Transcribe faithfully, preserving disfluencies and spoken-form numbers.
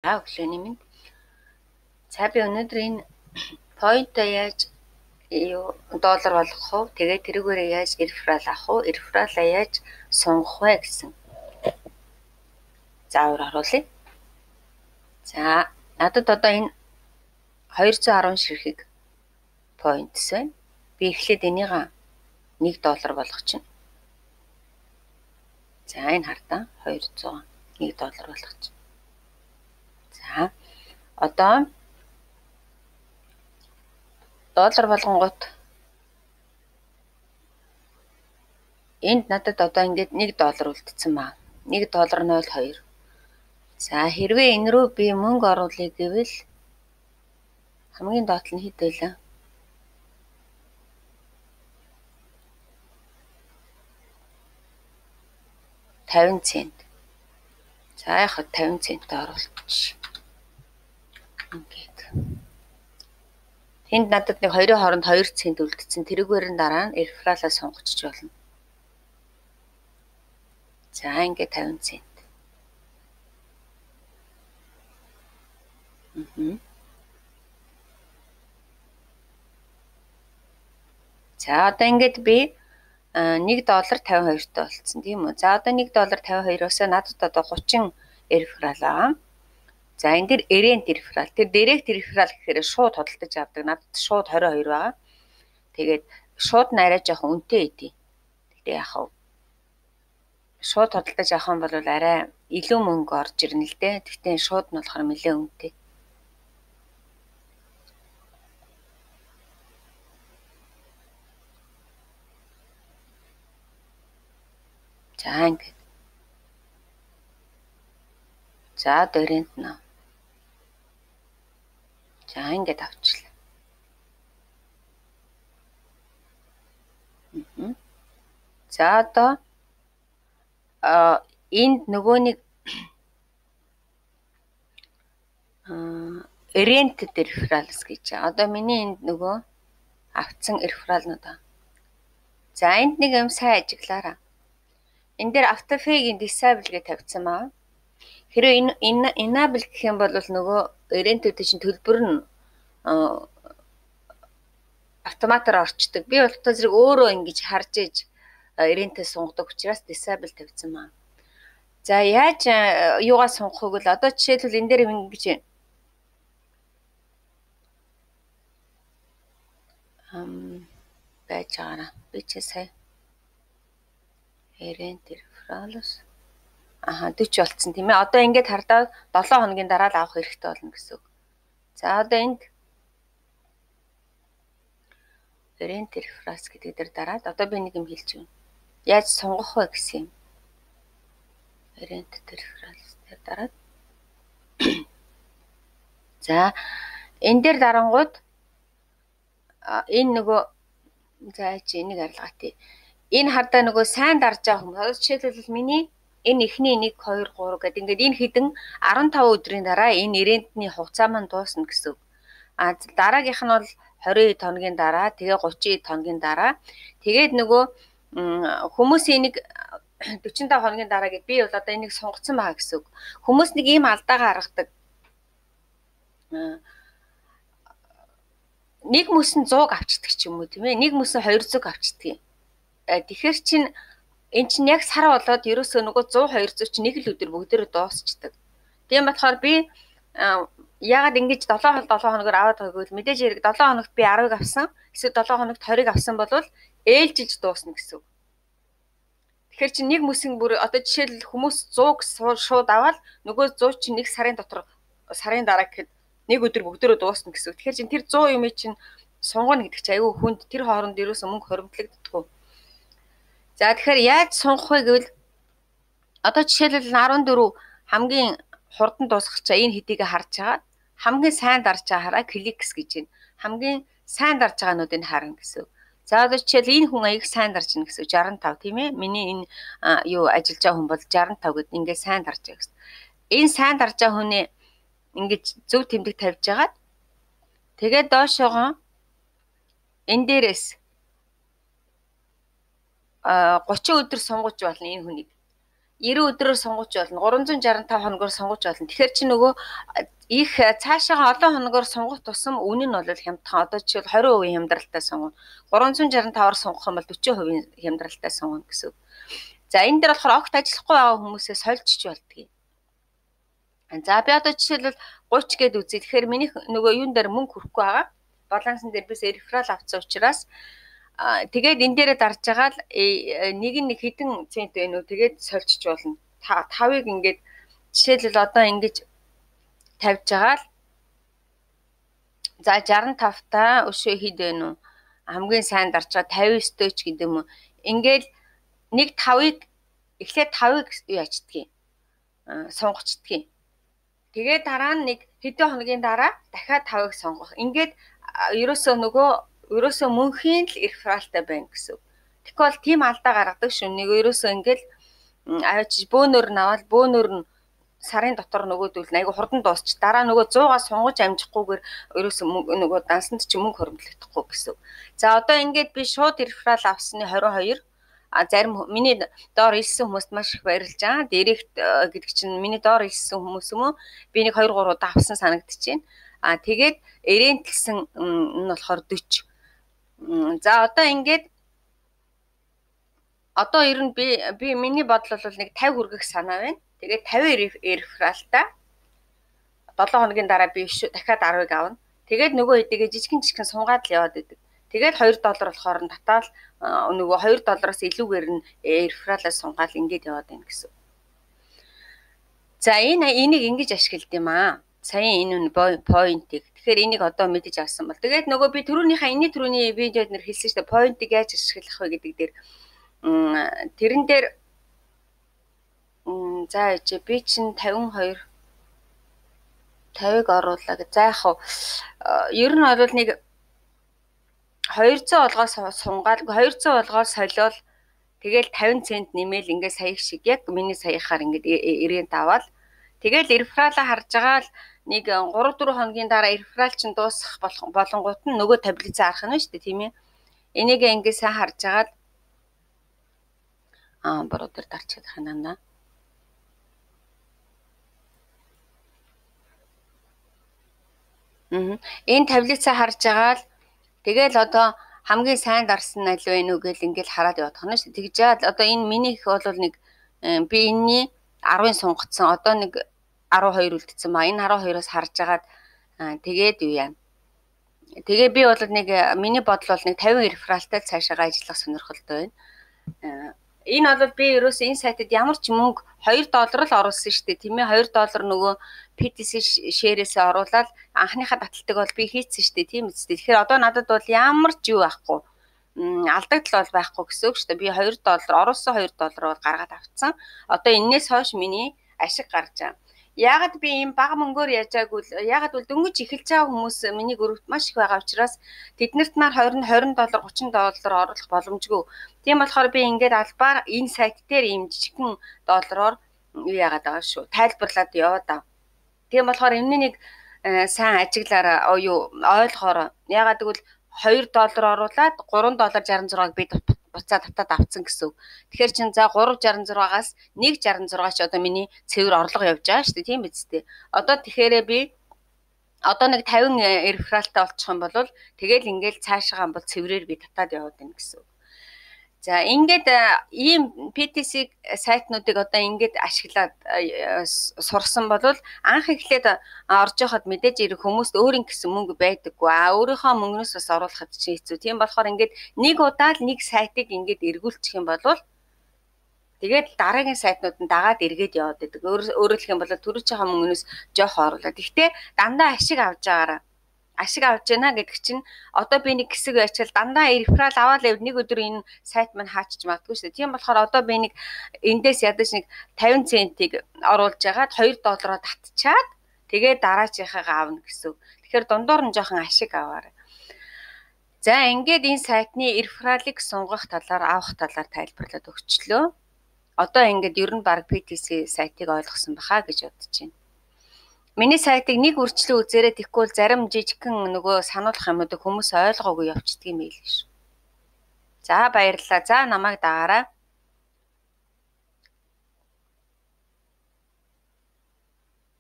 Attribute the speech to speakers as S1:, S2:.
S1: За өглөөний минь. За би өнөөдөр энэ point-а яаж юу доллар болгох вэ? Тэгээд тэрүүгээрээ яаж реферал авах вэ? Рефералаа яаж сонгох вэ гэсэн заавар харуулъя. За надад одоо энэ хоёр зуун арван ширхэг points байна. Би эхлээд энийг нэг доллар болгох чинь. За энэ хардаа хоёр зуун нэг доллар болгох чинь. За одоо доллар болгонгууд энд надад одоо ингээд нэг доллар үлдсэн ба. нэг доллар ноль хоёр. За хэрвээ энэ рүү би мөнгө оруулъя гэвэл хамгийн доод нь хэд байлаа? тавин цент. За яхад тавин цент оруулчих. Ингээд. Энд надад нэг хоёрын хооронд хоёр цент үлдсэн. Тэрүүгээр нь дараа нь рефералаа сонгочих болно. За ингээд тавин цент. Мм. За одоо ингээд би нэг доллар тавин хоёртой болцсон тийм үү. За одоо нэг доллар тавин хоёроос надад одоо гучин реферал байгаа. За энэ дэр эрент реферал. Тэр директ реферал гэхээр шууд худалдаж авдаг. Надад шууд двадцать two байгаа. Тэгээд шууд нь арай жоохон үнэтэй идэв. Тэгтээ яах вэ? Шууд худалдаж авах юм бол арай илүү мөнгө орж ирнэ л дээ. Тэгтээ шууд нь болохоор нэлээд үнэтэй. За ингээд. За дөрент нэ. За ингээд авчлаа. Мм. За одоо а энд нөгөө нэг рент рефералс гэж. Одоо миний энд нөгөө авцсан рефералнууд аа. За энд нэг юм сайн ажиглаараа. Энд дээр автофейгийн disable гэж тавьсан маа. Хэрэв энэ энэ enable гэх юм бол нөгөө рентүүд чинь төлбөр нь автоматар орчдөг. Би бол та зэрэг өөрөө ингэж харж иж рентээ сунгадаг учраас disable тавьсан маа. За яаж юугаа сунгахыг л одоо жишээлбэл энэ дээр ингэж ам байж байгаа. Би ч сая рент рефералс аха forty болцсон тийм ээ. Одоо ингээд хардаа seven хоногийн дараа л авах хэрэгтэй болно гэсэн үг. За одоо энд рент рефералс гэдэг дээр дараад одоо би нэг юм хэлж байна. Яаж сунгах вэ гэсэн юм. Рент рефералс дээр дараад. За энэ дээр дарангууд энэ нөгөө за чи энийг арилгаа тий. Энэ хардаа нөгөө сайн дарж байгаа хүмүүс. Жишээлбэл миний энэ эхний нэг two three гэдэг ингээд энэ хідэн fifteen өдрийн дараа энэ рентний хугацаа маань дуусна гэсэн үг. А дараагийнх нь бол twenty-two хоногийн дараа, тэгээ thirty-two хоногийн дараа. Тэгээд нөгөө хүмүүсийн нэг forty-five хоногийн дараа гэд би бол одоо энийг сонгоцсон байгаа гэсэн үг. Хүмүүс нэг ийм алдаагаа гаргадаг. Нэг мөсөн one hundred авчдаг ч юм уу тийм ээ. Нэг мөсөн two hundred авчдаг юм. Тэгэхээр чин эн чинь яг сар болоод ерөөсөө нөгөө one hundred two hundred чинь нэг л өдөр бүгдээрээ дуусчдаг. Тийм болохоор би яагаад ингэж seven хоногоор аваад байгааг бол мэдээж хэрэг seven хоногт би ten-ыг авсан. Эсвэл seven хоногт twenty-ыг авсан бол ээлжилж дуусна гэсэн үг. Тэгэхээр чи нэг мөсөн бүр одоо жишээл хүмүүс one hundred шууд аваад нөгөө one hundred чинь нэг сарын дотор сарын дараа гэхэд нэг өдөр бүгдээрээ дуусна гэсэн үг. Тэгэхээр чин тэр one hundred юм чинь сунгана гэдэг чи аюу хүнд тэр хооронд ерөөсөө мөнгө хоримтлагддаггүй. За тэгэхээр яаж сунгах вэ гэвэл одоо жишээлбэл fourteen хамгийн хурдан дуусгах чаа энэ хэдийг харж байгаа. Хамгийн сайн дарж байгаа хараа кликс гэж байна. Хамгийн сайн дарж байгаануудыг харна гэсэн. За одоо жишээл энэ хүн аяг сайн дарж байна гэсэн sixty-five тийм ээ. Миний энэ юу ажиллаж байгаа хүн бол sixty-five гэд ингээд сайн дарж байгаа гэсэн. Энэ сайн дарж байгаа хүний ингээд зөв тэмдэг тавьж агаад тэгээд доошоогоо энэ дээрээс thirty өдөр сунгаж болно энэ хүнийг. девяносто өдрөөр сонгож болно. гурван зуун шаргу таван хоногоор сонгож болно. Тэгэхээр чи нөгөө их цаашаа олон хоногоор сонгох тусам үнэ нь бол хямдхан. Одоо жишээл двадцать хувийн хямдралтай сонгоно. гурван зуун шаргу таваар сонгох юм бол forty хувийн хямдралтай сонгоно гэсэн. За энэ дээр болохоор огт ажиллахгүй байгаа хүмүүсээ сольжч болдгийг. За би одоо жишээлбэл thirty гээд үзье. Тэгэхээр миний нөгөө юун дээр мөнгө хүрэхгүй байгаа. Балансын дээр бис реферал авсан учраас тэгээд энэ дээрээ дарж байгаа л нэг нэг хэдэн цент вэ нөө тэгээд сольжч болно. тавыг ингээд жишээлбэл одоо ингэж тавьж байгаа л за sixty-five та өшөө хэд вэ нүү хамгийн сайн дарж байгаа fifty-nine ч гэдэг юм уу. Ингээд нэг тавыг эхлээд тавыг юу ячдгийг сонгочдгийг. Тэгээд дараа нь нэг хэдэн хоногийн дараа дахиад тавыг сонгох. Ингээд ерөөсөө нөгөө ерөөсөө мөнхийн л рефералтай байна гэсэн. Тэгвэл тийм алдаа гаргадаг шүү. Нэг ерөөсөө ингээд аваач бөөнөр наваад бөөнөр нь сарын дотор нөгөөдөл айгу хурдан дуусч дараа нөгөө сто-аас сунгаж амжихгүйгээр ерөөсөө нөгөө дансанд ч мөнгө хөрөмтлөхдөггүй гэсэн. За одоо ингээд би шууд реферал авсны twenty-two а зарим миний доор илсэн хүмүүст маш их баярлж байгаа. Директ гэдэг чинь миний доор илсэн хүмүүс юм уу? Би нэг two three удаа авсан санагдчихээн. А тэгээд эрентэлсэн нь болохоор forty. За одоо ингээд одоо ер нь би би миний бодол бол нэг fifty хүргэх санаа байна. Тэгээд fifty рефералтай seven хоногийн дараа би дахиад ten-ыг авна. Тэгээд нөгөө хэдийгэ жижигэн жижигэн сунгаад л яваад идэг. Тэгээд two доллар болохоор нь татаал нөгөө two доллараас илүүгээр нь рефералаа сунгаад ингээд яваад байна гэсэн. За энэ энийг ингэж ашигладаг юм аа. Сая энэ point-ийг. Тэгэхээр энийг одоо мэдэж авсан бол. Тэгээд нөгөө би түрүүнийхээ энэний түрүүний видеод нэр хэлсэн шүү дээ. Point-ийг яаж ашиглах вэ гэдэг дээр тэрэн дээр за ээж би чинь fifty-two fifty-ыг оруулаа гэж. За яах вэ? Ер нь бол нэг two hundred болгоос сунгаад two hundred болгоос солиол тэгэл fifty цент нэмэл ингээд сая шиг яг миний саяхаар ингээд ирээнд аваад тэгэл рефералаа харж байгаа л нэг three four хоногийн дараа реферал чинь дуусах болонгууд нь нөгөө таблицаа харах нь шүү дээ тийм ээ. Энийг ингээд сайн харж байгаа л аа бороо дээр дарчих ханаа. Мм энэ таблицаа харж байгаа л тэгэл одоо хамгийн сайн дарсан аль вэ нү гэл ингээл хараад явах нь шүү. Тэгж яад одоо энэ минийх бол нэг би энэний ten сунгацсан. Одоо нэг twelve үлдсэн ба энэ twelve-оос харж агаад тэгээд юу яа. Тэгээ би бол нэг миний бодол бол нэг fifty рефералтай цаашаа ажиллах сонирхолтой байна. Энэ бол би ерөөсөө энэ сайтад ямар ч мөнгө two доллар л оруулсан шүү дээ. Тийм ээ two доллар нөгөө пи ти си шээрээсээ оруулаад анхныхаа таталтыг бол би хийцэн шүү дээ. Тийм үстэй. Тэгэхээр одоо надад бол ямар ч юу байхгүй. Алдагдал бол байхгүй гэсэн үг шүү дээ. Би two доллар оруулсан two доллар бол гаргаад авцсан. Одоо энээс хойш миний ашиг гарч байгаа. Яагаад би ийм бага мөнгөөр яжаагүй л яагаад бол дөнгөж эхэлж байгаа хүмүүс миний групт маш их байгаа учраас тэднэрт маань twenty twenty доллар thirty доллар оруулах боломжгүй. Тийм болохоор би ингээд албаар энэ сайт дээр ийм жижигхэн доллараар юу яагаад байгаа шүү. Тайлбарлаад яваад аа. Тийм болохоор энэ нэг сайн ажиглаараа юу ойлгохоор яагаад гэвэл two доллар оруулаад three доллар sixty-six-ыг би буцаад татаад авцсан гэсэн үг. Тэгэхээр чин за three sixty-six-аас one sixty-six ч одоо миний цэвэр орлого явж байгаа шүү дээ. Тийм биз дээ. Одоо тэгэхээр би одоо нэг fifty рефералтай болчих юм бол тэгэл ингээл цаашаа бол цэврээр би татаад яваад байна гэсэн үг. За ингээд ийм пи ти си сайтнуудыг одоо ингээд ашиглаад сурсан бол анх эхлээд орж яхад мэдээж ирэх хүмүүст өөрийн гэсэн мөнгө байдаггүй. А өөрийнхөө мөнгнөөс бас оруулахад чинь хэцүү. Тийм болохоор ингээд нэг удаа л нэг сайтыг ингээд эргүүлчих юм бол тэгээд дараагийн сайтнууд нь дагаад эргээд яваад байдаг. Өөрөөр хэлэх юм бол төрөжийнхөө мөнгнөөс жоох оруулаад. Гэхдээ дандаа ашиг авж байгаараа ашиг авч яана гэдэг чинь одоо би нэг хэсэг ячаал дандаа реферал аваад л нэг өдөр энэ сайт маань хаачиж магадгүй шүү дээ. Тийм болохоор одоо би нэг эндээс ядаж нэг fifty центийг оруулж ягаад two доллараар татчаад тэгээд дараачихаа аавна гэсэн. Тэгэхээр дундуур нь жоохон ашиг аваарай. За ингээд энэ сайтны рефералыг сунгах талаар авах талаар тайлбарлаад өгчлөө. Одоо ингээд ер нь баг пи ти си сайтыг ойлгосон баха гэж бодож байна. Миний сайтыг нэг үрчлэн үзээрэй тэгвэл зарим жижигхэн нөгөө сануулгах юмудыг хүмүүс ойлгоогүй явчихдаг юм байл шүү. За баярлалаа. За намайг дагаарай.